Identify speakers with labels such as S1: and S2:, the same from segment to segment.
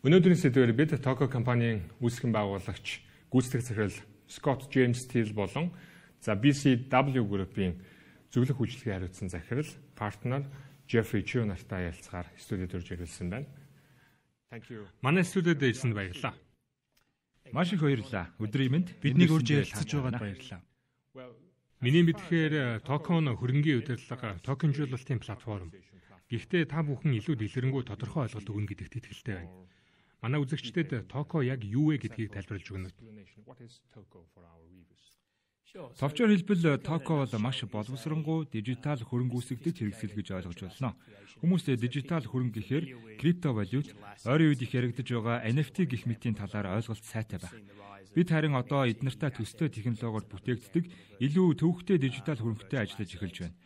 S1: Өнөөдрийн сэдвээр бид Toco компанийн үүсгэн байгуулагч гүйцэтгэх захирал Scott James Steele болон BCW Group-ийн зөвлөх үйлчлэгээ хариуцсан захирал партнер Jeffrey Chu нартай ярилцахаар студид орж ирсэн байна. Манай студид ирсэнд баярлалаа.
S2: Маш их баярлалаа. Өдрийн мэнд биднийг урьж ярилцаж байгаад баярлалаа.
S1: Миний мэдхээр Toco нь хөрөнгийн удирдлага токенжуулалтын платформ. Гэхдээ та бүхэн илүү дэлгэрэнгүй тодорхой ойлголт өгнө гэдэгт итгэлтэй байна. Манай үзэгчдэд Toco яг юу вэ гэдгийг тайлбарлаж өгнө.
S2: Товчоор хэлбэл Toco бол маш боловсронгуй дижитал хөрөнгө үүсгэгдэж хэрэгсэл гэж ойлгож болно. Хүмүүс дижитал хөрөнгө гэхээр криптовалют, ойрын үед их яригдж байгаа NFT гэх мэтийн талаар ойлголт сайтай байна. Бид харин одоо эднэртэй төстэй технологиор бүтээгддэг илүү төвөгтэй дижитал хөрөнгөтэй ажиллаж эхэлж байна.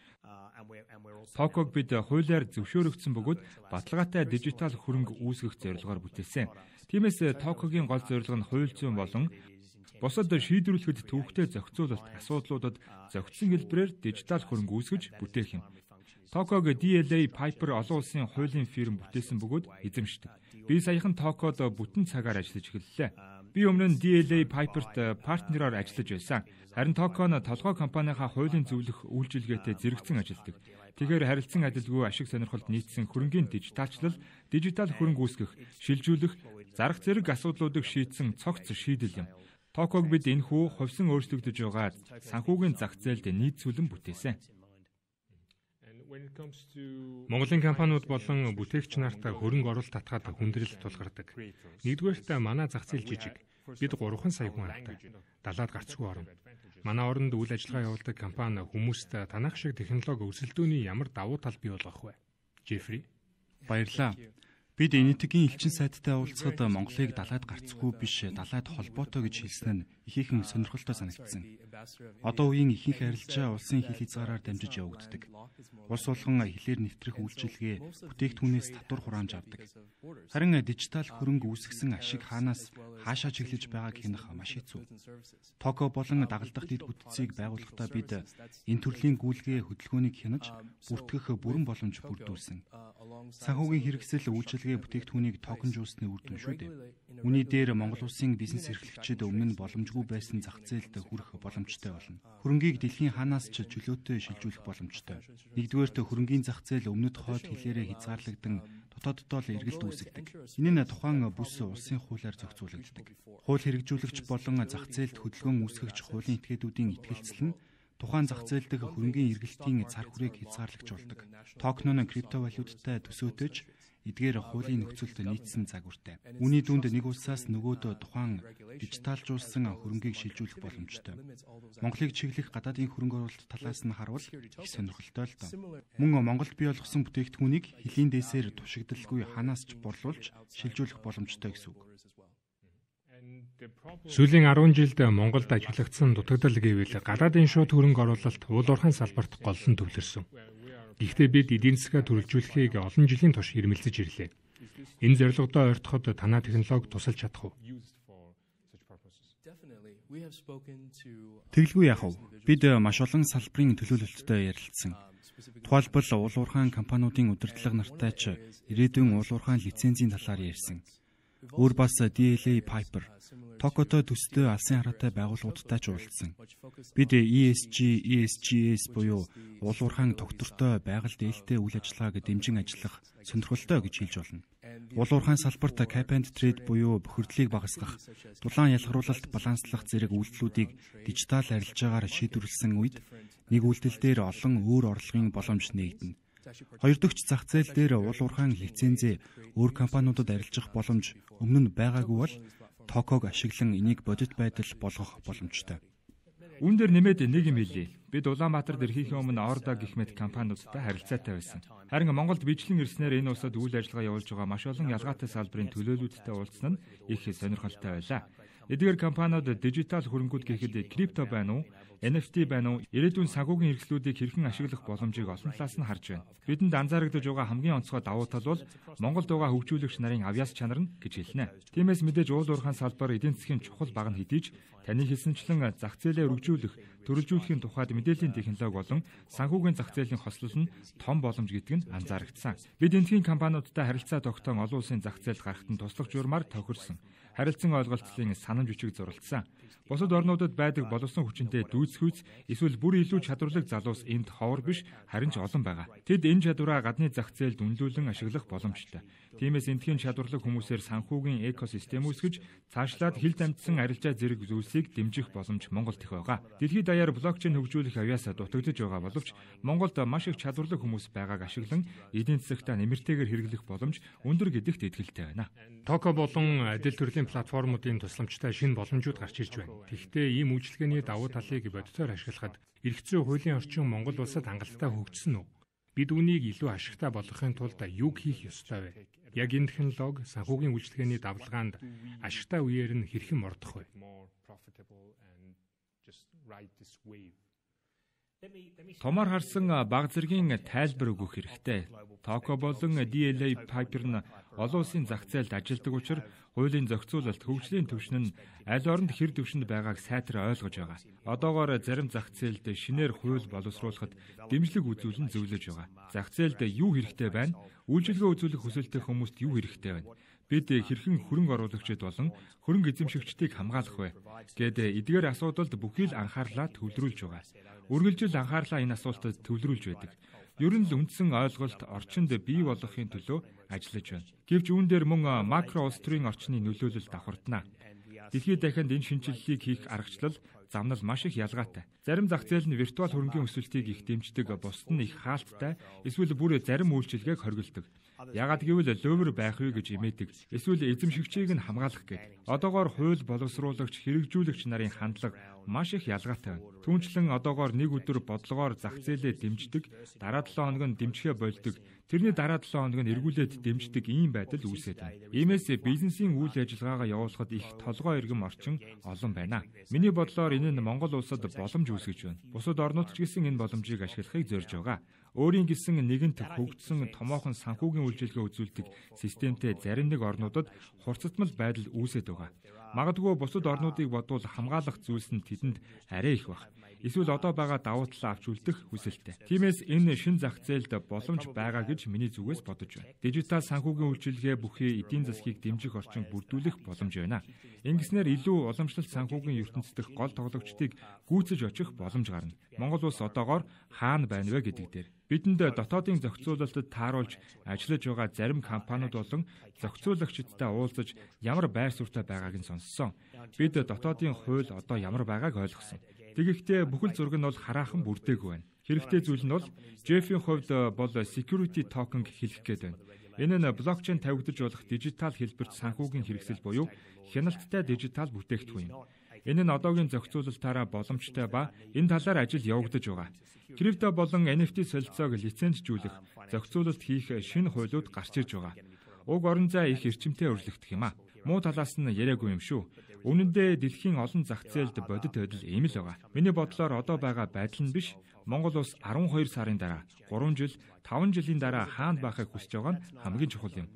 S2: Toco-г бид хуулиар зөвшөөрөгдсөн бөгөөд баталгаатай дижитал хөрөнгө үүсгэх зорилгоор бүтээсэн. Тиймээс Toco-гийн гол зорилго нь хууль зүйн болон бусад шийдвэрлэхэд төвөгтэй зохицуулалт асуудлуудад зохицсон хэлбэрээр дижитал хөрөнгө үүсгэж бүтээх юм. Toco-г DLA Piper олон улсын хуулийн фирм бүтээсэн бөгөөд эзэмшдэг. Би саяхан Toco-д бүтэн цагаар ажиллаж эхэллээ. Би өмнө нь DLA Piper-т партнераар ажиллаж байсан. Харин Toco нь толгой компанийнхаа хуулийн зөвлөх үйлчилгээтэй зэрэгцэн ажилладаг. Тэгэхээр харилцан адилгүй ашиг сонирхолд нийцсэн хөрөнгийн дижиталчлал, дижитал хөрөнгө үүсгэх, шилжүүлэх, зарах зэрэг асуудлуудыг шийдсэн цогц шийдэл юм. Toco-г бид энэхүү хувьсан өөрчлөгдөж байгаа санхүүгийн зах зээлд нийцүүлэн бүтээсэн.
S1: Монголын компаниуд болон бүтээгч нарт хөрөнгө оруулалт татгаад хүндрэл тулгардаг. Нэгдүгээрт манай зах зээл жижиг. Бид 3 сая хүн авдаг. Далаад гарцгүй орно. Манай оронд үйл ажиллагаа явуулдаг компани хүмүүст танах шиг технологи өрсөлдөөний ямар давуу тал бий болгох вэ? Jeffrey.
S3: Баярлалаа. Бид энэтхэгийн элчин сайттай уулзахад Монголыг далаад гарцгүй биш, далаад холбоотой гэж хэлсэн нь ихээхэн сонирхолтой санагдсан. Одоо үеийн ихэнх арилжаа улсын хил хязгаараар дамжиж явагддаг. Улс болгон хэлээр нэвтрэх үйлчилгээ бүтээгдэхүүнээс татвар хураамж авдаг. Харин дижитал хөрөнгө үүсгэсэн ашиг хаанаас хаашаа чиглэж байгааг хянах маш хэцүү. Toco болон дагалдах дэд бүтцийг байгуулахдаа бид энэ төрлийн гүйлгээ хөдөлгөөнийг хянаж бүртгэх бүрэн боломж бүрдүүлсэн. Санхүүгийн хэрэгсэл үйлчилгээ бүтээгдэхүүнийг токенжуулсны үр дүн шүү дээ. Үүний дээр Монгол улсын бизнес эрхлэгчид өмнө нь боломжгүй байсан зах зээлд хүрэх боломжтой болно. Хөрөнгийг дэлхийн хаанаас ч чөлөөтэй шилжүүлэх боломжтой. Нэгдүгээрт хөрөнгийн зах зээл өмнөд хойд хилээрээ хязгаарлагдан дотооддоо л эргэлт үүсгдэг. Энэ нь тухайн бүс улсын хуулиар зохицуулагддаг. Хууль хэрэгжүүлэгч болон зах зээлд хөдөлгөөн үүсгэгч хуулийн этгээдүүдийн итгэлцэл нь тухайн зах зээл дэх хөрөнгийн эргэлтийн цар хүрээг хязгаарлагч болдог. Toco нь криптовалюттай төсөөтэйч эдгээр хуулийн нөхцөлд нийцсэн загвартай. Үүний дүнд нэг улсаас нөгөөд тухайн дижиталжуулсан хөрөнгийг шилжүүлэх боломжтой. Монголыг чиглэх гадаадын хөрөнгө оруулалт талаас нь харвал их сонирхолтой л доо. Мөн Монголд бий болгосон бүтээгдэхүүнийг хилийн дээсээр тушигдaltaгүй ханаас ч борлуулж шилжүүлэх боломжтой гэсэн үг.
S1: Сүүлийн 10 жилд Монголд ажиглагдсан дутагдал гэвэл гадаадын шууд хөрөнгө оруулалт уул уурхайн салбарт голлон төвлөрсөн. Гэхдээ бид эдийн засгаа төрөлжүүлэхийг олон жилийн турш ирмэлзэж ирлээ. Энэ зорилгодоо ойртоход танай технологи тусалж чадах уу?
S3: Тэглгүй яах вэ? Бид маш олон салбарын төлөөлөлтөд ярилцсан. Тухайлбал уул уурхайн компаниудын удирдлага нартай ч ирээдүйн уул уурхайн лицензийн талаар ярьсан. Өөр бас DLA Piper, Toco-той төстэй алсын хараатай байгууллагуудтай ч уулзсан. Бид ESGS буюу уул уурхайн тогтвортой байгаль дээлтэй үйл ажиллагааг дэмжин ажиллах сонирхолтой гэж хэлж болно. Уул уурхайн салбарт cap and trade буюу бохирдлыг багасгах, дулаан ялгаруулалт баланслах зэрэг үйлдэлүүдийг дижитал арилжаагаар шийдвэрлэсэн үед нэг үйлдэл дээр олон өөр орлогын боломж нээгдэнэ. Хоёр дахь зах зээл дээр уул уурхайн лицензээ өөр компаниудад арилжах боломж өмнө нь байгаагүй бол Toco-г ашиглан энийг бодит байдал болгох боломжтой.
S2: Үүн дээр нэмээд нэг юм хэлье. Бид Улаанбаатарт ирэхийн өмнө Орда гэх мэт компаниудтай харилцаатай байсан. Харин Монголд бичлэн ирснээр энэ улсад үйл ажиллагаа явуулж байгаа маш олон ялгаатай салбарын төлөөлөлттэй уулзсан нь их сонирхолтой байлаа. Эдгээр компаниуд дижитал хөрөнгүүд гэхэд крипто байна уу, NFT байна уу? Ирээдүйн санхүүгийн хэрэгслүүдийг хэрхэн ашиглах боломжийг олон талаас нь харж байна. Бидэнд анзаарагдаж байгаа хамгийн онцгой давуу тал бол Монголд байгаа хөгжүүлэгч нарын авьяас чанар нь гэж хэлнэ. Тиймээс мэдээж уул уурхайн салбар эдийн засгийн чухал баг нь хэдий ч таны хэлсэнчлэн зах зээлээ өргөжүүлэх, төрөлжүүлэхийн тухайд мэдээллийн технологи болон санхүүгийн зах зээлийн хослол нь том боломж гэдэг нь анзаарэгдсэн. Бид энэхийн компаниудтай харилцаа тогтоон олон улсын зах зээлд гарахад нь туслах журмаар тохирсон. Харилцан ойлголцлын санамж бичиг зурвалдсан. Бусад орнуудад байдаг боловсон хүчинтэй дүйцэхүйц эсвэл бүр илүү чадварлаг залуус энд ховор биш харин ч олон байгаа. Тэд энэ чадвараа гадны зах зээлд үнэлүүлэн ашиглах боломжтой. Тиймээс эндхийн чадварлаг хүмүүсээр санхүүгийн экосистем үүсгэж цаашлаад хил дамжсан арилжаа зэрэг зүйлсийг дэмжих боломж Монголд их байгаа. Дэлхийд даяар блокчейн хөгжүүлэх авьяасаа дутагдж байгаа боловч Монголд маш их чадварлаг хүмүүс байгааг ашиглан эдийн засагтаа нэмэртэйгээр хэрэглэх боломж өндөр гэдэгт итгэлтэй байна.
S1: Токо болон адил төрлийн платформуудын тусламжтай шинэ боломжууд гарч ирж байна. Тэгэхдээ ийм үйлчилгээний давуу талыг бодитоор ашиглахад эрх зүйн хуулийн орчин Монгол улсад хангалттай хөгжсөн үү? Бид үүнийг илүү ашигтай болгохын тулд юг хийх ёстой вэ? Яг энэ технологи санхүүгийн үйлчилгээний давлгаанд ашигтай үеэр нь хэрхэн мордох вэ?
S2: Томор харсан баг зэргийн тайлбар өгөх хэрэгтэй. Токо болон DLA Piper нь олон улсын зах зээлд ажилладаг учраас хуулийн зохицуулалт хөгжлийн түвшин нь аль оронд хэр түвшинд байгааг сайтар ойлгож байгаа. Одоогоор зарим зах зээлд шинээр хууль боловсруулахад дэмжлэг үзүүлэн зөвлөж байгаа. Зах зээлд юу хэрэгтэй байна? Үйлчилгээ үзүүлэх хүсэлтэй хүмүүст юу хэрэгтэй байна? Бид хэрхэн хөрөнгө оруулагчид болон хөрөнгө эзэмшигчдийг хамгаалах вэ гэдэг эдгээр асуудалд бүхий л анхаарлаа төвлөрүүлж байгаа. Үргэлжил анхаарлаа энэ асуултад төвлөрүүлж байдаг. Ер нь л үндсэн ойлголт орчинд бий болгохын төлөө ажиллаж байна. Гэвч үүн дээр мөн макро улс төрийн орчны нөлөөлөл давхардана. Дэлхийд дахинд энэ шинжилгээг хийх аргачлал замнал маш их ялгаатай. Зарим зах зээл нь виртуал хөрөнгийн өсөлтийг их дэмждэг, бусд нь их хаалттай, эсвэл бүр зарим үйлчилгээг хоригддог. Яагад гэвэл лөвөр байх юу гэж имээдэг. Эсвэл эзэмшигчийг нь хамгаалах гээд. Одоогоор хууль боловсруулагч, хэрэгжүүлэгч нарын хандлага маш их ялгаатай байна. Түүнчлэн одоогоор нэг өдөр бодлогоор зах зээлээ дэмждэг, дараа 7 хоног нь дэмжихээ болдог. Тэрний дараа 7 хоног нь эргүүлээд дэмждэг ийм байдал үүсээд байна. Иймээс бизнесийн үйл ажиллагаагаа явуулахад их толгой иргэм орчин олон байна. Миний бодлоор энэ нь Монгол улсад боломж үүсгэж байна. Бусад орнууд ч гэсэн энэ боломжийг ашиглахыг зорж байгаа. Өөрийн гэсэн нэгэнт хөгжсөн томоохон санхүүгийн үйлчилгээ үзүүлдэг системтэй зарим нэг орнуудад хурцтмал байдал үүсээд байгаа. Магадгүй бусад орнуудыг бодвол хамгаалах зүйлс нь тэдэнд арай их баг. Эсвэл одоо байгаа давуу талаа авч үлдэх хүсэлтэй. Тиймээс энэ шин зах зээлд боломж байгаа гэж миний зүгээс бодож байна. Дижитал санхүүгийн үйлчилгээ бүхий эдийн засгийг дэмжих орчин бүрдүүлэх боломж байна. Ингэснээр илүү уламжлалт санхүүгийн ертөнцийн дэх гол тоглогчдыг гүйцэж очих боломж гарна. Монгол улс одоогоор хаана байна вэ гэдэг дээр. Бидэнд дотоодын зохицуулалтад тааруулж ажиллаж байгаа зарим компаниуд болон зохицуулагчдтай уулзаж ямар байр суурьтай байгааг нь сонссон. Бид дотоодын хууль одоо ямар байгааг ойлгосон. Тэгэхдээ бүхэл зураг нь бол хараахан бүрдээгүй байна. Хэрэгтэй зүйл нь бол Jeff-ийн хувьд бол security token хэлэх гээд байна. Энэ нь блокчейн тавигдаж болох дижитал хэлбэрт санхүүгийн хэрэгсэл буюу хяналттай дижитал бүтээгдэхүүн юм. Энэ нь одоогийн зохицуулалтаараа боломжтой ба энэ талаар ажил явагдаж байгаа. Крипто болон NFT солилцоог лицензжүүлэх, зохицуулалт хийх шинэ хуулиуд гарч ирж байгаа. Уг орон зай их эрчимтэй өрлөгдөх юм а. Муу талаас нь яриагүй юм шүү. Үнэн дээр дэлхийн олон зах зээлд бодит байдал ийм л байгаа. Миний бодлоор одоо байгаа байдал нь биш. Монгол улс 12 сарын дараа, 3 жил, 5 жилийн дараа хаана байхыг хүсэж байгаа нь хамгийн чухал юм.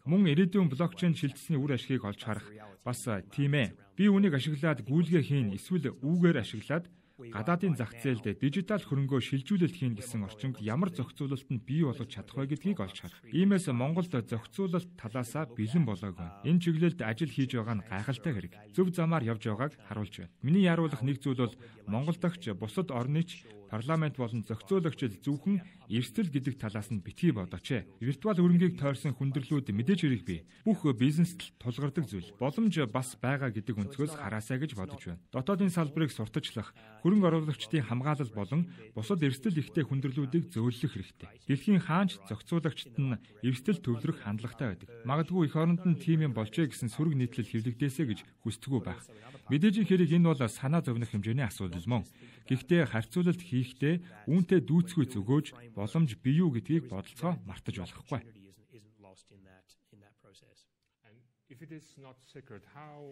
S2: Мөн ирээдүйн блокчейн шилжсэний үр ашгийг олж харах бас тийм ээ. Би үүнийг ашиглаад гүйлгээ хийн, эсвэл үүгээр ашиглаад гадаадын зах зээлд дижитал хөрөнгөө шилжүүлэлт хийн гэсэн орчинд ямар зохицуулалт нь бий болгож чадах вэ гэдгийг олж харах. Иймээс Монголд зохицуулалт талаасаа бэлэн болоогүй. Энэ чиглэлд ажил хийж байгаа нь гайхалтай хэрэг. Зөв замаар явж байгааг харуулж байна. Миний яруулах нэг зүйл бол Монгол дахь бусад орны ч парламент болон зохицуулагчид зөвхөн эрсдэл гэдэг талаас нь битгий бодооч. Виртуал хөрөнгийг тойрсон хүндрэлүүд мэдээж хэрэг бий. Бүх бизнест тулгардаг зүйл. Боломж бас байгаа гэдэг өнцгөөс хараасаа гэж бодож байна. Дотоодын салбарыг сурталчлах, хөрөнгө оруулагчдын хамгаалал болон бусад эрсдэл ихтэй хүндрэлүүдийг зөөлөх хэрэгтэй. Дэлхийн хаанч зохицуулагчид нь эрсдэл төвлөрөх хандлагатай байдаг. Магадгүй эх оронд нь тийм юм болжээ гэсэн сүрэг нийтлэл хэвлэгдээсэ гэж хүсдэггүй байх. Мэдээж хэрэг энэ бол санаа зовних хэмжээний асуудал мөн. Гэхдээ харьцуулалт хийхдээ үүнтэй дүүцгүй зөвгөөж боломж бий юу гэдгийг бодолцоо мартаж болохгүй.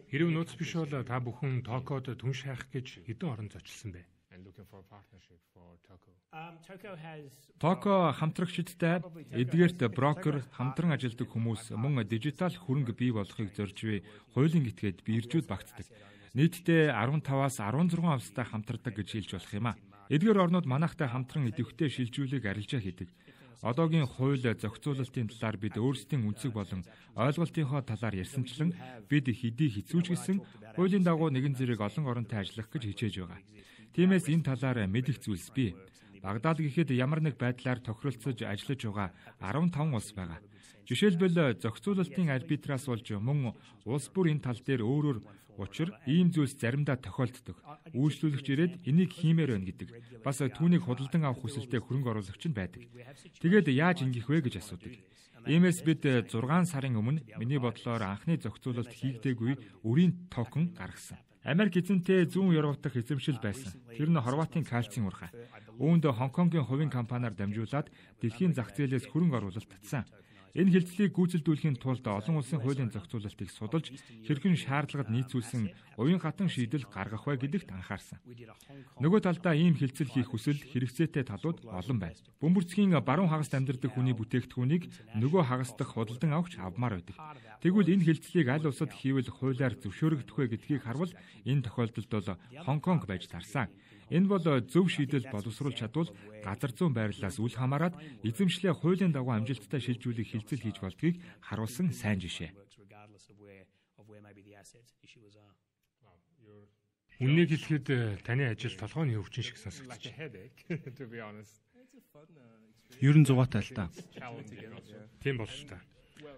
S1: Хэрв нууц биш бол та бүхэн Токод түн шайх гэж хэдэн орон зочилсан бэ?
S2: Токо хамтрагчдтай эдгээрт брокер хамтран ажилладаг хүмүүс мөн дижитал хөрөнгө бий болохыг зорж буй хуулийн этгээд биржүүд багтдаг. Нийтдээ 15-аас 16 австай хамтардаг гэж хэлж болох юм а. Эдгээр орнууд манайхтай хамтран идэвхтэй шилжүүлэг арилжаа хийдэг. Одоогийн хууль зохицуулалтын талаар бид өөрсдийн үнцэг болон ойлголтынхоо талаар ярьсанчлан бид хэдий хэцүүч гэсэн хуулийн дагуу нэгэн зэрэг олон оронтой ажиллах гэж хичээж байгаа. Тиймээс энэ талаар мэдэх зүйлс бий. Багдад гэхэд ямар нэг байдлаар тохиролцож ажиллаж байгаа 15 улс байгаа. Жишээлбэл зохицуулалтын арбитраас болж мөн улс бүр энэ тал дээр өөрөөр учир ийм зүйлс заримдаа тохиолддог. Үйлчлүүлэгч ирээд энийг хиймээр байна гэдэг. Бас түүнийг худалдан авах хүсэлтэй хөрөнгө оруулагч нь байдаг. Тэгээд яаж ингэх вэ гэж асуудаг. Иймээс бид 6 сарын өмнө миний бодлоор анхны зохицуулалт хийгдээгүй өрийн токен гаргасан. Америк эзэнтэй зүүн Европ дахь эзэмшил байсан. Тэр нь Хорватын кальцийн урхаа. Үүнд Хонконгийн хувийн компаниар дамжуулаад дэлхийн зах зээлээс хөрөнгө оруулалт татсан. Энэ хилцлийг гүйцэлдүүлэхийн тулд олон улсын хуулийн зохицуулалтыг судалж, хэрхэн шаардлагад нийцүүлсэн уян хатан шийдэл гаргах вэ гэдэгт анхаарсан. Нөгөө талдаа ийм хилцэл хийх хүсэл хэрэгцээтэй талууд олон байна. Бөмбөрцгийн баруун хагаст амьдардаг хүний бүтээгдэхүүнийг нөгөө хагас дахь худалдан авахч авмаар байдаг. Тэгвэл энэ хилцлийг аль улсад хийвэл хуулиар зөвшөөрөгдөх вэ гэдгийг харвал энэ тохиолдолд бол Хонконг байж тарсан. Энэ бол зөв шийдэл боловсруулж чадвал газар зүүн байрлалаас үл хамааран эзэмшлээ хуулийн дагуу амжилттай шилжүүлэх хилцэл хийж болдгийг харуулсан сайн жишээ.
S1: Үннийг хэлэхэд таны ажил толгойн өвчин шиг сонсогдож байна.
S3: Ер нь зугаатай л та.
S1: Тийм болж та.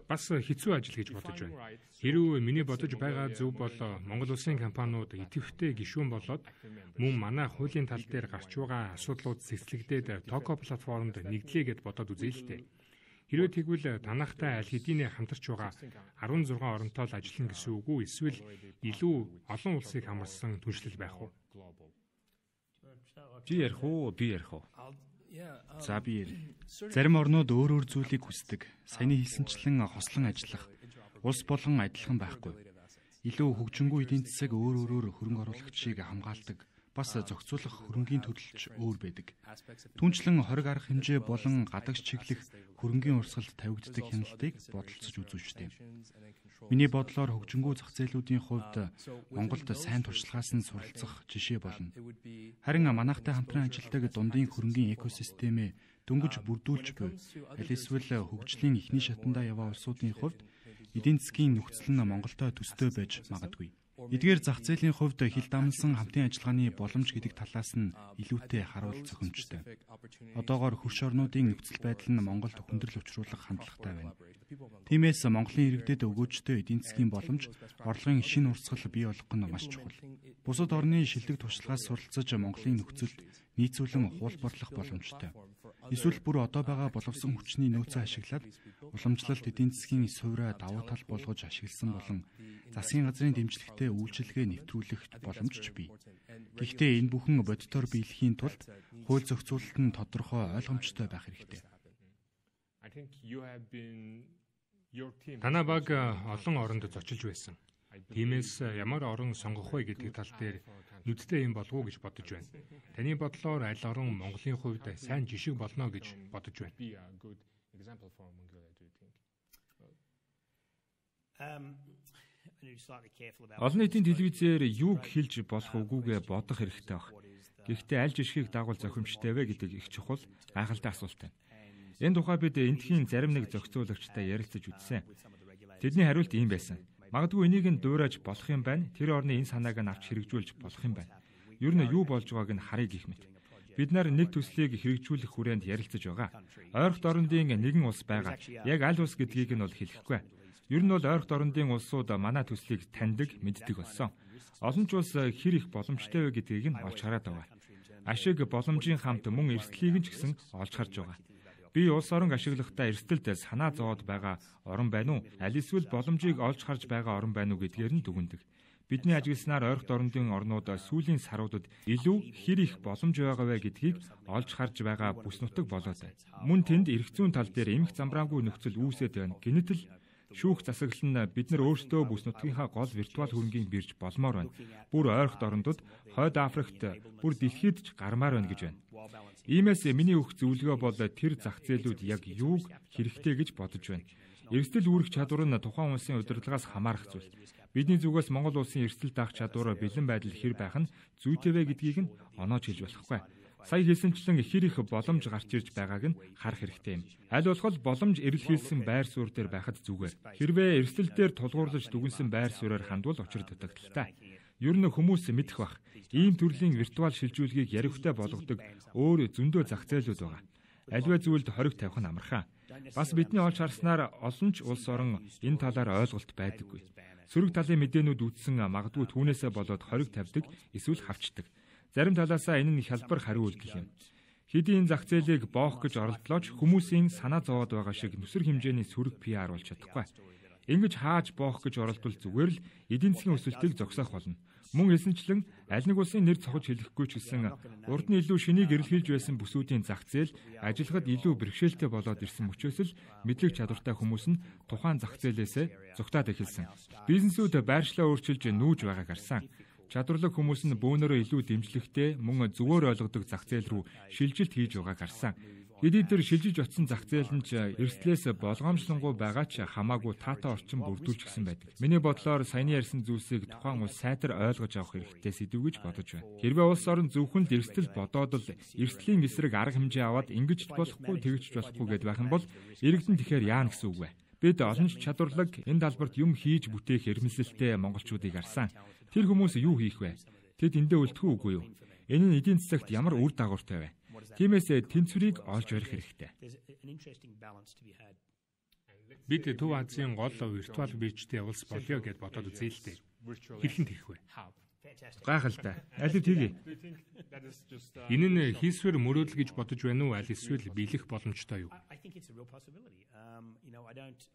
S1: Бас хэцүү ажил гэж бодож байна. Хэрвээ миний бодож байгаа зөв бол Монгол улсын компаниуд идэвхтэй гишүүн болоод мөн манай хуулийн тал дээр гарч байгаа асуудлууд цэцлэгдээд Токо платформонд нэгдлээ гэд бодоод үзье л дээ. Хэрвээ тэгвэл танахтай аль хэдийнэ хамтарч байгаа 16 оронтой л ажиллана гэсэн үг үү? Эсвэл илүү олон улсыг хамарсан түншлэл байх уу?
S2: Би ярих уу?
S3: За би ярь. Зарим орнууд өөр зүйлийг хүсдэг. Саяны хэлсэнчлэн хослон ажиллах. Улс болгон адилхан байхгүй. Илүү хөгжингүй эдийн засаг өөр хөрөнгө оруулагчийг хамгаалдаг. Бас зохицуулах хөрөнгийн төлөлч өөр байдаг. Түүнчлэн хориг арга хэмжээ болон гадагш чиглэх хөрөнгийн урсгалд тавигддаг хяналтыг бодолцож үзүүчтэй. Миний бодлоор хөгжингүй зах зээлүүдийн хувьд Монголд сайн туршлагаас нь суралцах жишээ болно. Харин манайхтай хамтран ажилладаг дундын хөрөнгийн экосистемээ дөнгөж бүрдүүлж буй аль эсвэл хөгжлийн эхний шатандаа яваа улсуудын хувьд эдийн засгийн нөхцөл нь Монголтой төстэй байж магадгүй. Эдгээр зах зээлийн хувьд хил дамнсан хамтын ажиллагааны боломж гэдэг талаас нь илүүтэй харуул зохимжтой. Одоогоор хөрш орнуудын нөхцөл байдал нь Монголд хүндрэл учруулах хандлагатай байна. Тиймээс Монголын иргэдэд өгөөжтэй эдийн засгийн боломж, орлогын шинэ урсгал бий болгох нь маш чухал. Бусад орны шилдэг туршлагаас суралцаж Монголын нөхцөлд нийцүүлэн хуулбарлах боломжтой. Эсвэл бүр одоо байгаа боловсон хүчний нөөцөө ашиглаад уламжлалт эдийн засгийн суурь давуу тал болгож ашигласан болон засгийн газрын дэмжлэгтэй үйлчилгээ нэвтрүүлэх боломж ч бий. Гэхдээ энэ бүхэн бодитоор биелэхийн тулд хууль зохицуулалт нь тодорхой ойлгомжтой байх хэрэгтэй.
S1: Танай баг олон оронд зочилж байсан. Тиймээс ямар орон сонгох вэ гэдэг тал дээр нүдтэй юм болов уу гэж бодож байна. Таны бодлоор аль орон Монголын хувьд сайн жишг болно гэж бодож байна.
S2: Олон нийтийн телевизээр юуг хэлж болох үгүйгээ бодох хэрэгтэй баг. Гэхдээ аль жишгийг дагуул зохимжтой вэ гэдэг их чухал гайхалтай асуулт байна. Энэ тухай бид эндхийн зарим нэг зохицуулагчтай ярилцаж үзсэн. Тэдний хариулт ийм байсан. Магадгүй энийг нь дуурайж болох юм байна. Тэр орны энэ санааг нь авч хэрэгжүүлж болох юм байна. Ер нь юу болж байгааг нь харъя гэх мэт. Бид нар нэг төслийг хэрэгжүүлэх хүрээнд ярилцаж байгаа. Ойролт орондын нэгэн улс байгаа. Яг аль улс гэдгийг нь бол хэлэхгүй. Ер нь бол ойролт орондын улсууд манай төслийг таньдаг, мэддэг болсон. Олон ч улс хэр их боломжтой вэ гэдгийг нь олж хараад байгаа. Ашиг боломжийн хамт мөн эрсдлийг нь ч гэсэн олж харж байгаа. Би улс орон ашиглахдаа эрсдэлд санаа зовоод байгаа орн байна уу? Аль эсвэл боломжийг олж харж байгаа орн байна уу гэдгээр нь дүгнэдэг. Бидний ажигласнаар ойролт орондын орнууд сүүлийн саруудад илүү хэр их боломж байгаа вэ гэдгийг олж харж байгаа бүс нутаг болоод байна. Мөн тэнд эрх зүйн тал дээр эмх замбраангүй нөхцөл үүсээд байна. Гэнэтэл Шүүх засаглал нь бид нар өөрсдөө бүс нутгийнхаа гол виртуал хөрөнгийг бирж болмоор байна. Бүр ойрхот орондод, Хойд Африкт, бүр дэлхийд ч гармаар байна гэж байна. Иймээс миний өгөх зөвлөгөө бол тэр зах зээлүүд яг юуг хэрэгтэй гэж бодож байна. Эрсдэл үүрэх чадвар нь тухайн улсын удирдлагаас хамаарах зүйл. Бидний зүгээс Монгол улсын эрсдэл даах чадвар бэлэн байдал хэр байх нь зүйтэй вэ гэдгийг нь оноож хэлж болохгүй. Сая хэлсэнчлэн ихэр их боломж гарч ирж байгааг нь харах хэрэгтэй юм. Аль болох боломж эрэлхийлсэн байр суурь дээр байхад зүгээр. Хэрвээ эрсдэл дээр тулгуурлаж дүгнсэн байр суурьаар хандвал учир дутагдaltaй. Ер нь хүмүүс мэдэх бах. Ийм төрлийн виртуал шилжүүлгийг яриухтай болгодог өөр зөндөө зах зээлүүд байгаа. Аливаа зүйлд хориг тавих нь амархан. Бас бидний олж харснаар олон ч улс орон энэ талаар ойлголт байдаггүй. Сөрөг талын мэдээнүүд үтсэн магадгүй түүнээсээ болоод хориг тавьдаг эсвэл хавчдаг. Зарим талаасаа энэ нь хялбар хариу үйлдэл юм. Хэдийн зах зээлийг боох гэж оролдлооч хүмүүсийн санаа зовоод байгаа шиг нүсэр хэмжээний сөрөг PR болж чадахгүй. Ингэж хааж боох гэж оролдвол зүгээр л эдийн засгийн өсөлтийг зогсоох болно. Мөн хэлсэнчлэн аль нэг улсын нэр цохож хэлэхгүй ч гэсэн урд нь илүү шинийг эрэлхийлж байсан бүсүүдийн зах зээл ажиллахад илүү бэрхшээлтэй болоод ирсэн мөчөөс л мэдлэг чадвартай хүмүүс нь тухайн зах зээлээсээ зугтаад эхэлсэн. Бизнесүүд байршлаа өөрчилж нүүж байгааг харсан. Чадварлаг хүмүүс нь бөөнөрөө илүү дэмжлэгтэй мөн зөвөр ойлгодог зах зээл рүү шилжилт хийж байгааг харсан. Хэдий тэр шилжиж очсон зах зээл нь ч эрсдлээс болгоомжлонгуй байгаа ч хамаагүй таатай орчин бүрдүүлчихсэн байдаг. Миний бодлоор саяны ярьсан зүйлсийг тухайн улс сайтар ойлгож авах хэрэгтэй сэдв гэж бодож байна. Хэрвээ улс орон зөвхөн л эрсдэл бодоод л эрсдлийн эсрэг арга хэмжээ аваад ингэж болохгүй тэгж болохгүй гэдээ байх юм бол иргэдэн тэгэхээр яана гэсэн үг вэ? Бид олон чадварлаг энэ талбарт юм хийж бүтээх эрмэлзэлтэй монголчуудыг харсан. Тэр хүмүүс юу хийх вэ? Тэд эндээ үлдэх үгүй юу? Энэ нь эдийн засагт ямар үр дагавартай вэ? Тиймээс тэнцвэрийг олж барих хэрэгтэй.
S1: Бид Төв Азийн гол виртуал биржтэй улс болё гэд бодоод үзье л дээ. Хэрхэн тэгэх вэ?
S2: Гайхалтай. Аль тэгье?
S1: Энэ нь хийсвэр мөрөөдөл гэж бодож байна уу? Аль эсвэл биелэх боломжтой юу?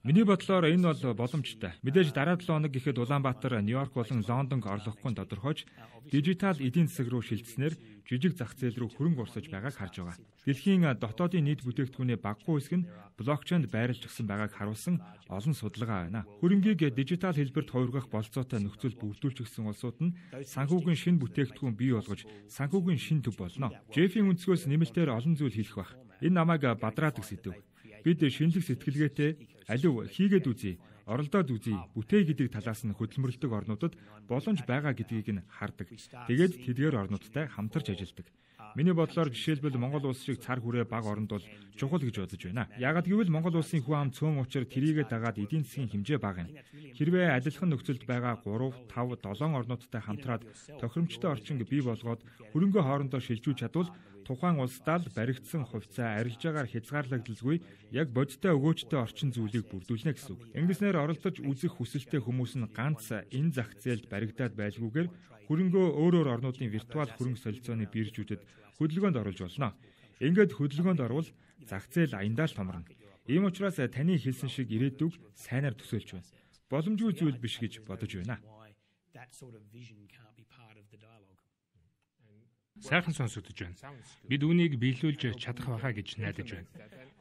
S2: Миний бодлоор энэ бол боломжтой. Мэдээж дараа 7 хоног гэхэд Улаанбаатар, Нью-Йорк болон Лондонг орлохгүй тодорхойж дижитал эдийн засаг руу шилжснээр жижиг зах зээл рүү хөрөнгө оруулж байгааг харж байгаа. Дэлхийн дотоодын нийт бүтээгдэхүүний багагүй хэсэг нь блокчейнд байрлалжсан байгааг харуулсан олон судалгаа байна. Хөрөнгийг дижитал хэлбэрт хувиргах болцоотой нөхцөл бүрдүүлчихсэн улсууд нь санхүүгийн шинэ бүтээгдэхүүн бий болгож санхүүгийн шинэ төв болно. Жеффийн өнцгөөс нэмэлтээр олон зүйл хэлэх бах. Энэ намайг бадраадаг сэдв. Бид шинэлэг сэтгэлгээтэй алив хийгээд үзье, оролдоод үзье, бүтээй гэдэг талаас нь хөдөлмөрлөдөг орнуудад боломж байгаа гэдгийг нь хардаг. Тэгээд тэдгээр орнуудтай хамтарч ажилладаг. Миний бодлоор жишээлбэл Монгол улс шиг цар хүрээ баг оронд бол чухал гэж бодож байна. Яагад гэвэл Монгол улсын хүн ам цөөн учир тэрийгэ дагаад эдийн засгийн хэмжээ бага юм. Хэрвээ адилхан нөхцөлд байгаа 3, 5, 7 орнуудтай хамтраад тохиромжтой орчин бий болгоод хөрөнгө хоорондоо шилжүүлж чадвал тухайн улсдаа л баригдсан хувьцаа арилжаагаар хязгаарлагдaltaгүй яг бодиттой өгөөжтэй орчин зүйлийг бүрдүүлнэ гэсэн үг. Ингэснээр оролдож үзэх хүсэлтэй хүмүүс нь ганц энэ зах зээлд баригдаад байлгүйгээр хөрөнгөө өөрөөр орнуудын виртуал хөрөнгө солилцооны биржүүдэд хөдөлгөөнд оруулж болно. Ингээд хөдөлгөөнд орвол зах зээл аяндаа л томорно. Ийм учраас таны хэлсэн шиг ирээдүг сайнаар төсөөлж байна. Боломжгүй зүйл биш гэж бодож байна.
S1: Сайхан сонсогдож байна. Бид үүнийг биелүүлж чадах байхаа гэж найдаж байна.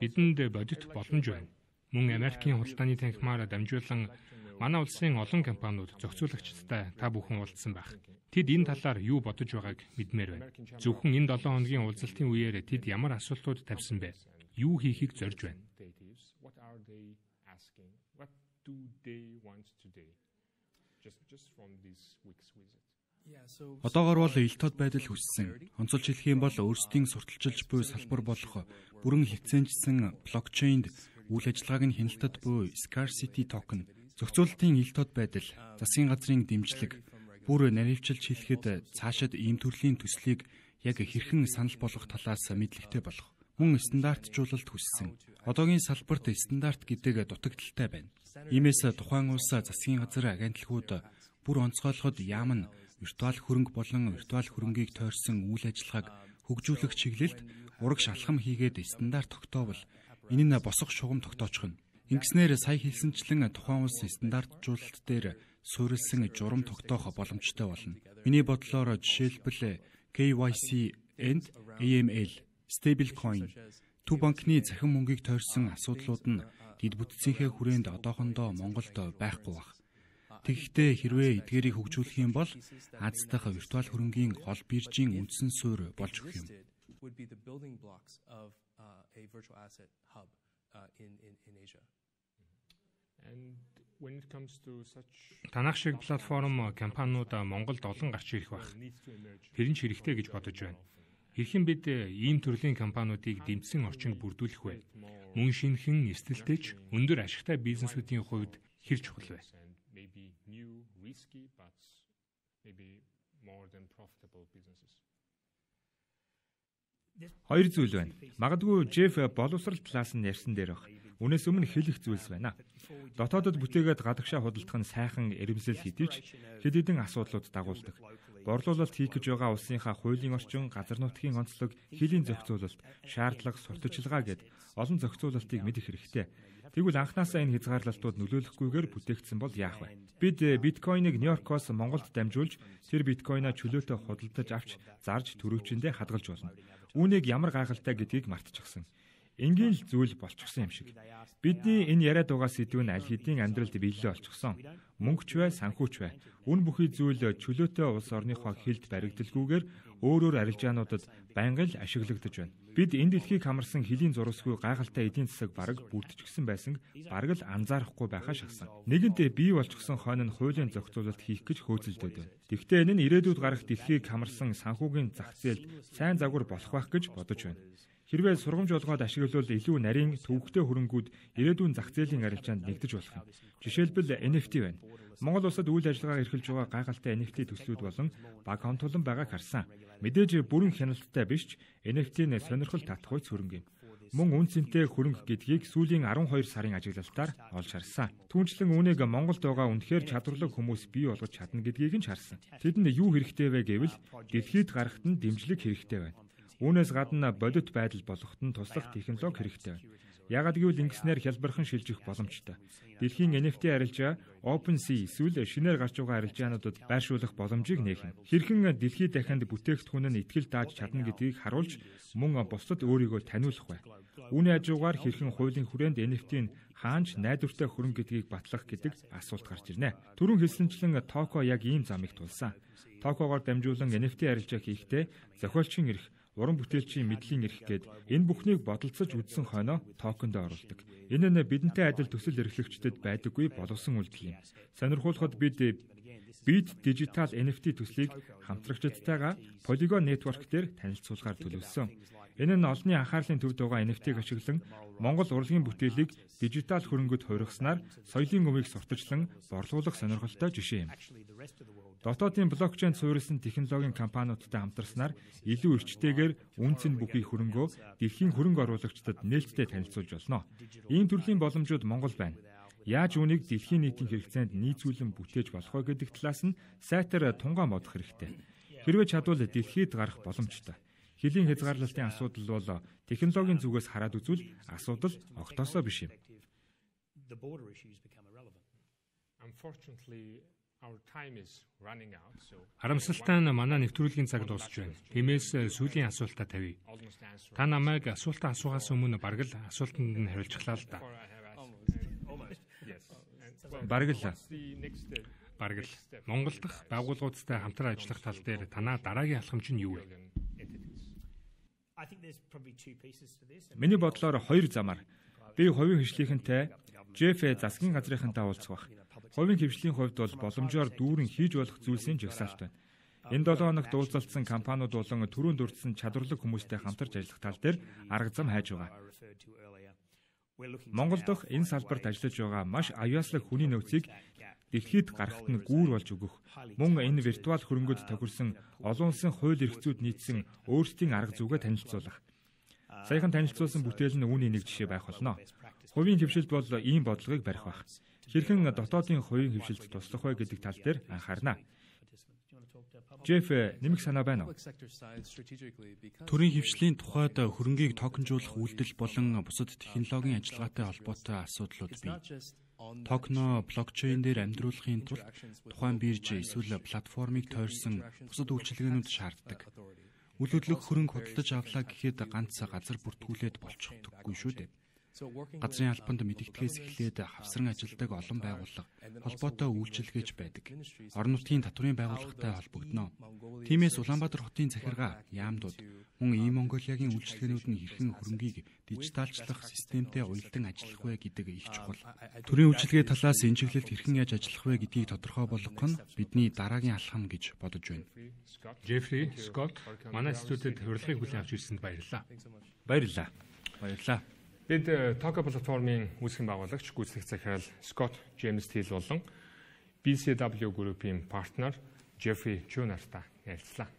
S1: Бидэнд бодит боломж байна. Мөн Америкийн худалдааны танхимаар дамжуулан манай улсын олон компаниуд зохицуулагчдтай та бүхэн уулзсан байх. Тэд энэ талаар юу бодож байгааг мэдмээр байна. Зөвхөн энэ 7 хоногийн уулзалтын үеэр тэд ямар асуултууд тавьсан бэ? Юу хийхийг зорж байна?
S3: Одоогор бол ил тод байдал хүссэн. Онцолж хэлэх юм бол өөрсдийн сурталчилж буй салбар болох бүрэн хязгаарчсан блокчейнд үйл ажиллагааг нь хяналтад буй scarcity token, зохицуулалтын ил тод байдал, засгийн газрын дэмжлэг, бүр наривчилж хэлэхэд цаашид ийм төрлийн төслийг яг хэрхэн санал болгох талаас мэдлэгтэй болох. Мөн стандартжуулалт хүссэн. Одоогийн салбарт стандарт гэдэг дутагдaltaй байна. Иймээс тухайн улс засгийн газар агентлагууд бүр онцгойлоход яам нь виртуал хөрөнгө болон виртуал хөрөнгийг тойрсон үйл ажиллагааг хөгжүүлэх чиглэлд ураг шалхам хийгээд стандарт тогтоовол энэ нь босох шугам тогтоочих нь. Ингэснээр сая хэлсэнчлэн тухайн улс стандартжуулалт дээр суурилсан журам тогтоох боломжтой болно. Миний бодлоор жишээлбэл KYC and AML, stablecoin, төв банкны захин мөнгийг тойрсон асуудлууд нь Дид бүтцийнхээ хүрээнд одоохондоо Монголд байхгүй баг. Тэгэхдээ хэрвээ эдгээрийг хөгжүүлэх юм бол Аз дахь виртуал хөрөнгийн гол биржийн үндсэн суурь болж өгөх юм.
S1: Танах шиг платформ компаниуд Монголд олон гарч ирэх байх. Тэр нь хэрэгтэй гэж бодож байна. Хэрхэн бид ийм төрлийн компаниудыг дэмжсэн орчинд бүрдүүлэх вэ? Мөн шинэхэн эсдэлтэйч өндөр ашигтай бизнесүүдийн хувьд хэр чухал вэ?
S2: Хоёр зүйл байна. Магадгүй Жеф боловсрал талаас нь ярьсан дээр баг. Үүнээс өмнө хэлэх зүйлс байна. Дотоодод бүтээгээд гадагшаа худалдах нь сайхан эрэмсэл хэдийч хэд хэдэн асуудлууд дагуулдаг. Борлуулалт хийх гэж байгаа улсынхаа хуулийн орчин, газар нутгийн онцлог, хилийн зохицуулалт, шаардлага, сурталчилгаа гэд олон зохицуулалтыг мэдэх хэрэгтэй. Тэгвэл анхнаасаа энэ хязгаарлалтууд нөлөөлөхгүйгээр бүтээгдсэн бол яах вэ? Бид биткойныг Нью-Йоркоос Монголд дамжуулж, тэр биткойноо чөлөөтэй худалдаж авч, зарж төрөвчөндөө хадгалж болно. Үүнийг ямар гайхалтай гэдгийг мартчихсан. Ингийн л зүйл болчихсон юм шиг. Бидний энэ яриад байгаа сэдв нь аль хэдийн амьдралд биелэлээ олчихсон. Мөнгөч бай, санхүүч бай. Үн бүхий зүйл чөлөөтэй улс орныхоо хилд баригдалгүйгээр өөрөөр арилжаануудад байнга л ашиглагдаж байна. Бид энэ дэлхийг хамарсан хилийн зурвасгүй гайхалтай эдийн засаг бараг бүрдчихсэн байсан бараг л анзаарахгүй байхаа шахсан. Нэгэнтээ бий болчихсон хойно нь хуулийн зохицуулалт хийх гэж хөөцөлдөд байна. Тэгэхдээ энэ нь ирээдүйд гарах дэлхийг хамарсан санхүүгийн зах зээлд сайн загвар болох байх гэж бодож байна. Хэрвээ сургамж олгоод ашиглавал илүү нарийн төвөгтэй хөрөнгүүд ирээдүйн зах зээлийн арилжаанд нэгдэж болох юм. Жишээлбэл NFT байна. Монгол улсад үйл ажиллагаа эрхэлж байгаа гайхалтай NFT төслүүд болон баг хомтолон байгааг харсан. Мэдээж бүрэн хяналттай биш ч NFT-ний сонирхол татах үе хөрөнгө юм. Мөн үн цэнтэй хөрөнгө гэдгийг сүүлийн 12 сарын ажиглалтаар олж харсан. Түүнчлэн үүнийг Монголд байгаа үнэхээр чадварлаг хүмүүс бий болгож чадна гэдгийг нь харсан. Тэдэнд юу хэрэгтэй вэ гэвэл дэлхийд гарахт нь дэмжлэг хэрэгтэй байна. Үүнээс гадна бодит байдал болгоход нь туслах технологи хэрэгтэй байна. Яагад гэвэл ингэснээр хялбархан шилжих боломжтой. Дэлхийн NFT арилжаа OpenSea эсвэл шинээр гарч байгаа арилжаануудад байршуулах боломжийг нээх. Хэрхэн дэлхийд дахинд бүтээгдэхүүн нь итгэл дааж чадна гэдгийг харуулж мөн бусдад өөрийгөө таниулах вэ. Үүний хажуугаар хэрхэн хуулийн хүрээнд NFT-ийн хаанч найдвартай хөрөнгө гэдгийг батлах гэдэг асуулт гарч ирнэ. Түрүүн хэлсэнчлэн Токо яг ийм замыг тулсан. Токогоор дамжуулан NFT арилжаа хийхдээ зохиолчийн эрх, уран бүтээлчийн мэдлийн эрх гээд энэ бүхнийг бодолцож үзсэн хойноо токенд оруулдаг. Энэ нь бидэнтэй адил төсөл эрхлэгчдэд байдаггүй боловсон үйлдэл юм. Сонирхуулахад бид Digital NFT төслийг хамтрагчдтайгаа Polygon Network дээр танилцуулгаар төлөвлөсөн. Энэ нь олонний анхаарлын төвд байгаа NFT-г ашиглан Монгол урлагийн бүтээлийг дижитал хөрөнгөд хувиргаснаар соёлын өвийг сурталчлан борлуулах сонирхолтой жишээ юм. Дотоодын блокчейн суурилсан технологийн компаниудтай хамтарснаар илүү эрчтэйгээр үнцэн бүхий хөрөнгөө дэлхийн хөрөнгө оруулагчдад нээлттэй танилцуулж болно. Ийм төрлийн боломжууд Монгол байна. Яаж үүнийг дэлхийн нийтийн хэрэгцээнд нийцүүлэн бүтээж болох вэ гэдэг талаас нь сайтар тунгаан бодох хэрэгтэй. Хэрвээ чадвал дэлхийд гарах боломжтой. Хилийн хязгаарлалтын асуудал бол технологийн зүгээс хараад үзвэл асуудал огтосоо биш юм.
S1: Харамсалтай нь манай нэвтрүүлгийн цаг дуусч байна. Тиймээс сүүлийн асуултаа тавья. Та намайг асуултаа асуухаас өмнө бараг л асуултанд нь хариулчихлаа л да.
S2: Бараг л
S1: Монгол дахь байгууллагуудтай хамтран ажиллах тал дээр танаа дараагийн алхамч нь юу вэ?
S2: Миний бодлоор хоёр замаар би хувийн хвшлийнхэнтэй Жеф засгийн газрынхантай уулзах бах. Хувийн хвшлийн хувьд бол боломжоор дүүрэн хийж болох зүйлсийн жагсаалт байна. Энэ 7 хоногт уулзалтсан компаниуд болон түрүүнд дурдсан чадварлаг хүмүүстэй хамтарч ажиллах тал дээр арга зам хайж байгаа. Монгол дахь энэ салбарт ажиллаж байгаа маш аюулслаг хүний нөөцийг дэлхийд гарахт нь гүүр болж өгөх. Мөн энэ виртуал хөрөнгөд тохирсон олон улсын хууль эрх зүйд нийцсэн өөрсдийн арга зүйгээ танилцуулах. Саяхан танилцуулсан бүтээл нь үүний нэг жишээ байх болно. Хувийн хвшилд бол ийм бодлогыг барих байх. Хэрхэн дотоодын хувийн хвшилд туслах вэ гэдэг тал дээр анхаарна. Жеф, нэмэх санаа байна уу?
S3: Төрийн хвшлийн тухайд хөрөнгийг токенжуулах үйлдэл болон бусад технологийн ажиллагаатай холбоотой асуудлууд бий. Токно блокчейн дээр амьдруулахын тулд тухайн бирж эсвэл платформыг тойрсон бусад үйлчилгээнүүд шаарддаг. Үл хөдлөх хөрөнгө худалдаж авлаа гэхэд ганц газар бүртгүүлээд болчихдоггүй шүү дээ. Газрын албанд мэдэгдэхээс эхлээд хавсран ажилладаг олон байгууллага холбоотой үйлчилгээч байдаг. Орон нутгийн татврын байгууллагатай холбогдно. Тиймээс Улаанбаатар хотын захиргаа, яамдууд мөн E-Mongolia-гийн үйлчилгээнүүд нь хэрхэн хөрөнгийг дижиталчлах системтэй уялдан ажиллах вэ гэдэг их чухал. Төрийн үйлчилгээ талаас энэ чиглэлд хэрхэн яаж ажиллах вэ гэдгийг тодорхой болгох нь бидний дараагийн алхам гэж бодож байна.
S1: Jeffrey, Scott, манай студид урилгыг хүлээн авч ирсэнд баярлалаа.
S2: Баярлалаа.
S1: Бид Talk платформын үүсгэн байгуулагч гүйцэтгэх захирал Scott James Thiel болон BCW Group-ийн партнер Jeffrey Chu нартай ярилцлаа.